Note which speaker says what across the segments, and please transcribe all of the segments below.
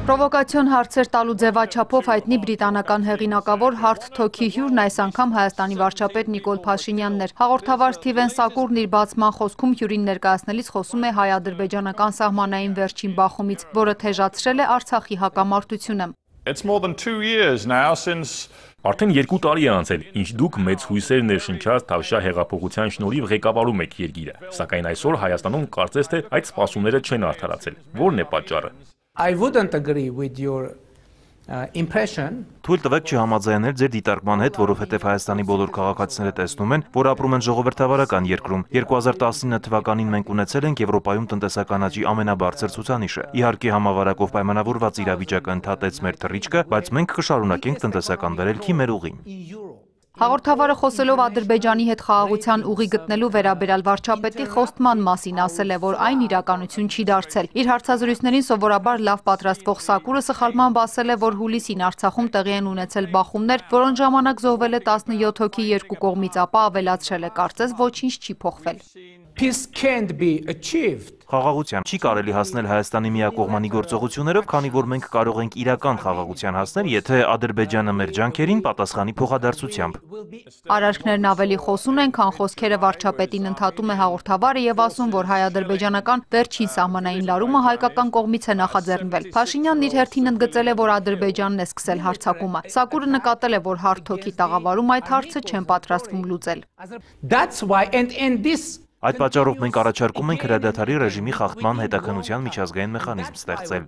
Speaker 1: Պրովոկացիոն հարցեր տալու ձևաչափով հայտնի բրիտանական հեղինակավոր Հարթ Թոքի հյուրն այս անգամ Հայաստանի վարչապետ Նիկոլ Փաշինյանն էր։ Հաղորդավար Սթիվեն Սակուրն իր բացման խոսքում հյուրին ներկայացնելիս խոսում է հայ-ադրբեջանական սահմանային վերջին բախումից, որը թեժացրել է Արցախի հակամարտությունը։
Speaker 2: Արդեն 2 տարի է անցել, ինչ դուք մեծ հույսեր ներշնչած Թավշյա հեղափոխության շնորհիվ ղեկավարում եք երկիրը, սակայն այսօր Հայաստանում կարծես թե այդ սպասումները չեն արդարացել։ Որն է պատճառը։
Speaker 3: Թույլ տվեք չհամաձայնել ձեր դիտարկման հետ, որովհետև Հայաստանի բոլոր քաղաքացիները տեսնում են, որ ապրում են ժողովրդավարական երկրում։ 2019 թվականին մենք ունեցել ենք Եվրոպայում տնտեսական աճի ամենաբարձր ցուցանիշը։ Իհարկե համավարակով պայմանավորված իրավիճակը ընդհատեց մեր թռիչքը, բայց մենք կշարունակենք տնտեսական վերելքի մեր ուղին։
Speaker 1: Հաղորդավարը խոսելով Ադրբեջանի հետ խաղաղության ուղի գտնելու վերաբերյալ վարչապետի խոստման մասին ասել է, որ այն իրականություն չի դարձել։ Իր հարցազրույցներին սովորաբար լավ պատրաստվող Սակուրը սխալմամբ ասել է, որ հուլիսին Արցախում տեղի են ունեցել բախումներ, որոնց ժամանակ զոհվել է 17 հոգի երկու կողմից, ապա ավելացրել է, կարծես ոչինչ չի փոխվել։
Speaker 3: Խաղաղության չի կարելի հասնել Հայաստանի միակողմանի գործողություններով, քանի որ մենք կարող ենք իրական խաղաղության հասնել, եթե Ադրբեջանը մեր ջանքերին պատասխանի փոխադարձությամբ։
Speaker 1: Արարքներն ավելի խոսուն են, քան խոսքերը վարչապետին ընդհատում է հաղորդավարը եւ ասում, որ հայ-ադրբեջանական վերջին սահմանային լարումը հայկական կողմից է նախաձեռնվել։ Փաշինյանն իր հերթին ընդգծել է, որ Ադրբեջանն է սկսել հարձակումը։ Սակուրը նկատել է, որ Հարթ Թոքի տաղավարում այդ հարցը չեն պատրաստվում լուծել։
Speaker 3: Այդ պատճառով մենք առաջարկում ենք հրադադարի ռեժիմի խախտման հետաքննության միջազգային մեխանիզմ ստեղծել։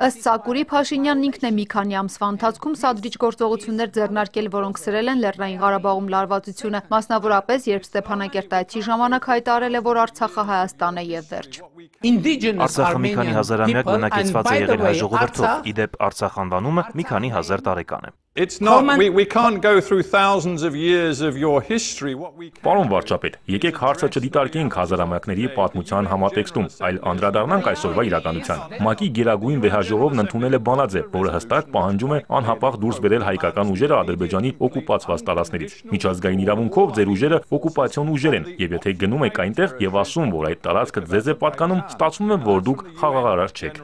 Speaker 1: Ըստ Սակուրի, Փաշինյանն ինքն է մի քանի ամսվա ընթացքում սադրիչ գործողություններ ձեռնարկել, որոնք սրել են Լեռնային Ղարաբաղում լարվածությունը, մասնավորապես, երբ Ստեփանակերտայցի ժամանակ հայտարարել է, որ Արցախը Հայաստան է եւ վերջ։
Speaker 3: Արցախը մի քանի հազարամյակ բնակեցված է եղել հայ ժողովրդով, իդեպ Արցախ անվանումը մի քանի հազար տարեկան է։
Speaker 2: Պարոն վարչապետ, եկեք հարցը չդիտարկենք հազարամյակների պատմության համատեքստում, այլ անդրադառնանք այսօրվա իրականության։ ՄԱԿ-ի գերագույն վեհաժողովն ընդունել է բանաձև, որը հստակ պահանջում է անհապաղ դուրս բերել հայկական ուժերը Ադրբեջանի օկուպացված տարածքներից։ Միջազգային իրավունքով ձեր ուժերը օկուպացիոն ուժեր են, եւ եթե գնում եք այնտեղ եւ ասում, որ այդ տարածքը ձեզ է պատկանում, ստացվում է, որ դուք խաղաղարար չեք։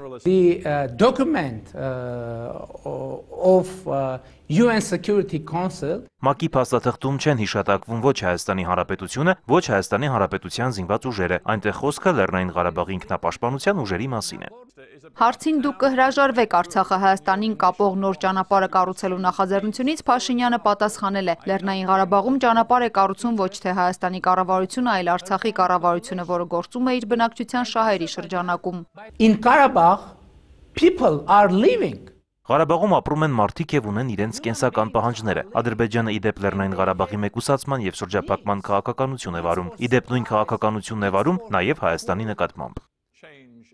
Speaker 3: ՄԱԿ-ի փաստաթղթում չեն հիշատակվում ոչ Հայաստանի Հանրապետությունը, ոչ Հայաստանի Հանրապետության զինված ուժերը, այնտեղ խոսքը Լեռնային Ղարաբաղի ինքնապաշտպանության ուժերի մասին է։
Speaker 1: Հարցին դուք կհրաժարվեք Արցախը Հայաստանին կապող նոր ճանապարհը կառուցելու նախաձեռնությունից, Փաշինյանը պատասխանել է. Լեռնային Ղարաբաղում ճանապարհ է կառուցում ոչ թե Հայաստանի կառավարությունը, այլ Արցախի կառավարությունը, որը գործում է իր բնակչության շահերի շրջանակում։
Speaker 3: Ղարաբաղում ապրում են մարդիկ եւ ունեն իրենց կենսական պահանջները։ Ադրբեջանը իդեպ Լեռնային Ղարաբաղի մեկուսացման եւ շրջափակման քաղաքականություն է վարում։ Իդեպ նույն քաղաքականությունն է վարում նաեւ Հայաստանի նկատմամբ։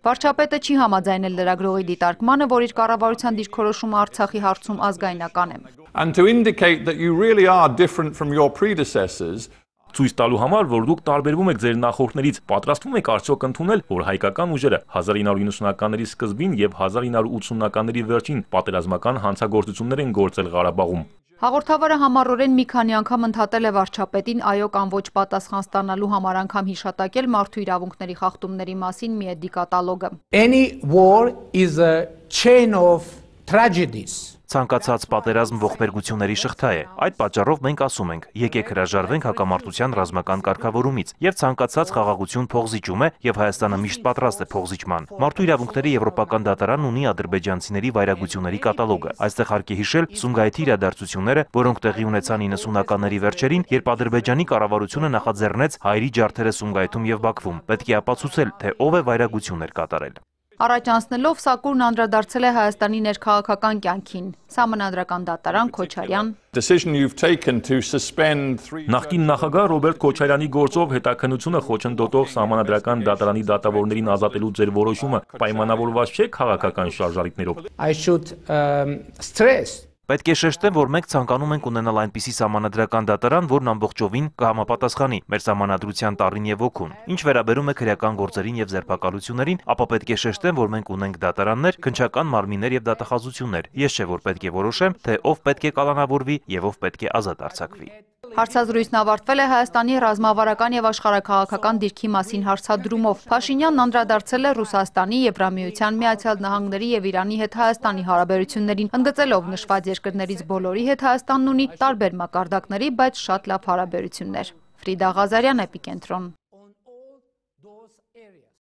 Speaker 1: Վարչապետը չի համաձայնել լրագրողի դիտարկմանը, որ իր կառավարության դիրքորոշումը Արցախի հարցում ազգայնական է։
Speaker 2: Ցույց տալու համար, որ դուք տարբերվում եք ձեր նախորդներից, պատրաստվում եք արդյոք ընդունել, որ հայկական ուժերը 1990-ականների սկզբին եւ 1980-ականների վերջին պատերազմական հանցագործություններ են գործել Ղարաբաղում։
Speaker 1: Հաղորդավարը համառորեն մի քանի անգամ ընդհատել է վարչապետին այո կամ ոչ պատասխան ստանալու համար անգամ հիշատակել մարդու իրավունքների խախտումների մասին մի դիկատալոգը։
Speaker 3: Ցանկացած պատերազմ ողբերգությունների շղթա է։ Այդ պատճառով մենք ասում ենք, եկեք հրաժարվենք հակամարտության ռազմական կարգավորումից, եւ ցանկացած խաղաղություն փոխզիջում է, եւ Հայաստանը միշտ պատրաստ է փոխզիջման։ Մարդու իրավունքների եվրոպական դատարանն ունի ադրբեջանցիների վայրագությունների կատալոգը։ Այստեղ հարկ է հիշել Սումգայիթի իրադարձությունները, որոնք տեղի ունեցան 90-ականների վերջերին, երբ Ադրբեջանի կառավարությունը նախաձեռնեց հայերի ջարդերը Սումգայիթում եւ Բաքվում։ Պետք է ապացուցել, թե ով է վայրագություններ կատարել։
Speaker 1: Առաջ անցնելով Սակուրն անդրադարձել է Հայաստանի ներքաղաքական կյանքին։ Սահմանադրական դատարան Քոչարյան։
Speaker 2: Նախկին նախագահ Ռոբերտ Քոչարյանի գործով հետաքննությունը խոչընդոտող Սահմանադրական դատարանի դատավորներին ազատելու ձեր որոշումը պայմանավորված չէ քաղաքական շարժառիթներով։
Speaker 3: Պետք է շեշտեմ, որ մենք ցանկանում ենք ունենալ այնպիսի սահմանադրական դատարան, որն ամբողջովին կհամապատասխանի մեր սահմանադրության տառին եւ ոգուն։ Ինչ վերաբերում է քրեական գործերին եւ ձերբակալություններին, ապա պետք է շեշտեմ, որ մենք ունենք դատարաններ, քննչական մարմիններ եւ դատախազություններ։ Ես չէ որ պետք է որոշեմ, թե ով պետք է կալանավորվի եւ ով պետք է ազատ արձակվի։
Speaker 1: Հարցազրույցն ավարտվել է Հայաստանի ռազմավարական եւ աշխարհաքաղաքական դիրքի մասին հարցադրումով։ Փաշինյանն անդրադարձել է Ռուսաստանի, Եվրամիության, Միացյալ Նահանգների եւ Իրանի հետ Հայաստանի հարաբերություններին, ընդգծելով նշված երկրներից բոլորի հետ Հայաստանն ունի տարբեր մակարդակների, բայց շատ լավ հարաբերություններ։ Ֆրիդա Ղազարյան, Էպիկենտրոն։